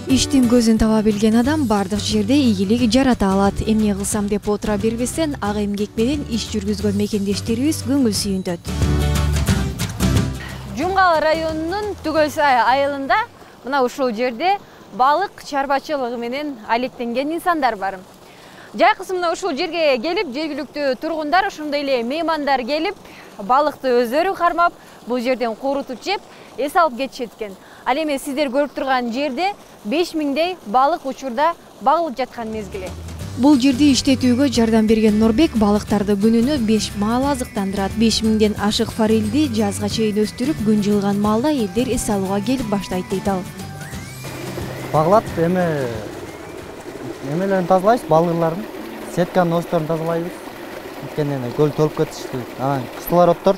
Иштин көзүн таба билген адам бардык жерде ийгилик жарата алат. Эмне кылсам деп отура бербестен, ак эмгек менен иш жүргүзгөн мекендештерибиз көңүл сүйүнтөт. Жумгал районунун Түгөлсай айылында мына ушул жерде балык чарбачылыгы менен алектенген инсандар бар. Жайкысы мына ушул жерге келип, жергиликтүү тургундар, ошондой эле меймандар келип, балыкты өздөрү кармап, бул жерден куурутуп жеп, эс алып кетишет экен. Ал эми сиздер көрүп турган жерде 5000дей балык учурда багылып жаткан мезгили. Бул жерди иштетүүгө жардам берген Норбек балыктарды күнүнө 5 маал азыктандырат. 5000ден ашык форелди жазга чейин өстүрүп, күн жылган маалда элдер эс алууга келип баштайт дейт ал. Багылат эмелерин тазалайбыз, балырларын, сетканын осторун тазалайбыз. Анткени көл толуп кетишти. Анан кислороддор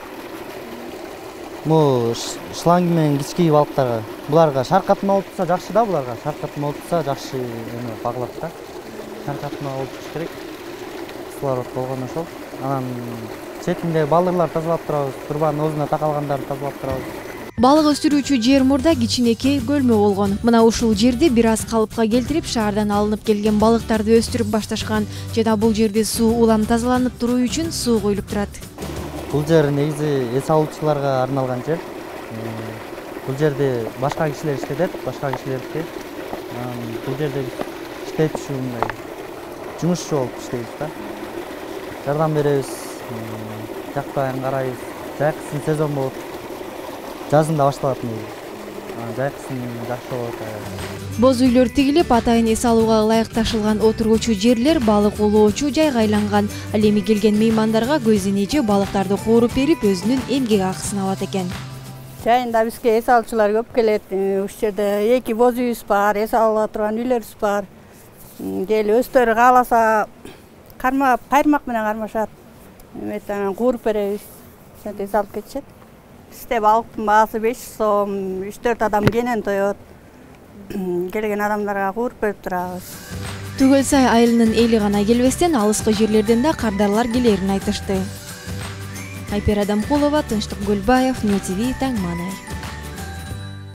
шланг менен кичкей балыктарга, буларга шаркатма болуп турса жакшы да, буларга шаркатма болуп турса жакшы багылат да. Шаркатма болуп туруш керек. Кислород болгон ошол. Анан четинде балырлар тазалап турабыз, турбанын оозуна такалгандарын тазалап турабыз. Балык өстүрүүчү жер мурда кичинекей бөлмө болгон. Мына ушул жерди бир аз калыпка келтирип, шаардан алынып келген балыктарды өстүрүп башташкан. Жана бул жерде суу улам тазаланып туруу үчүн суу коюлуп турат. Бул жер негизи эс алуучуларга арналган жер. Бул жерде башка кишилер иштетет, башка кишилердики. Бул жерде иштетүүчү мындай жумушчу болуп иштейбиз да. Жардам беребиз, жакпайын карайбыз. Жайкысын сезон болот. Жазында башталат негизи. Жайкысын жакшы болот. Боз үйлөр тигилип, атайын эс алууга ылайыкташылган отургучу жерлер балык улоочу жайга айланган. Ал эми келген меймандарга көзүнече балыктарды кууруп берип, өзүнүн эмгек акысын алат экен. Жайында бизге эс алуучулар көп келет. Ушул жерде 2 боз үйүбүз бар, эс ала турган үйлөрүбүз бар. Келип өздөрү кааласа кармап, кайырмак менен кармашат. Эметен кууруп беребиз. Ошентип эс алып кетишет. Бизде балыктын баасы 5 сом, 3-4 адам кенен тоет. Келген адамдарга кууруп берип турабыз. Түгөлсай айылынын эли гана келбестен, алыскы жерлерден да кардарлар келерин айтышты. Айпер Адамкулова, Тынчтык Гөлбаев, Нью ТВ, Таң Маанай.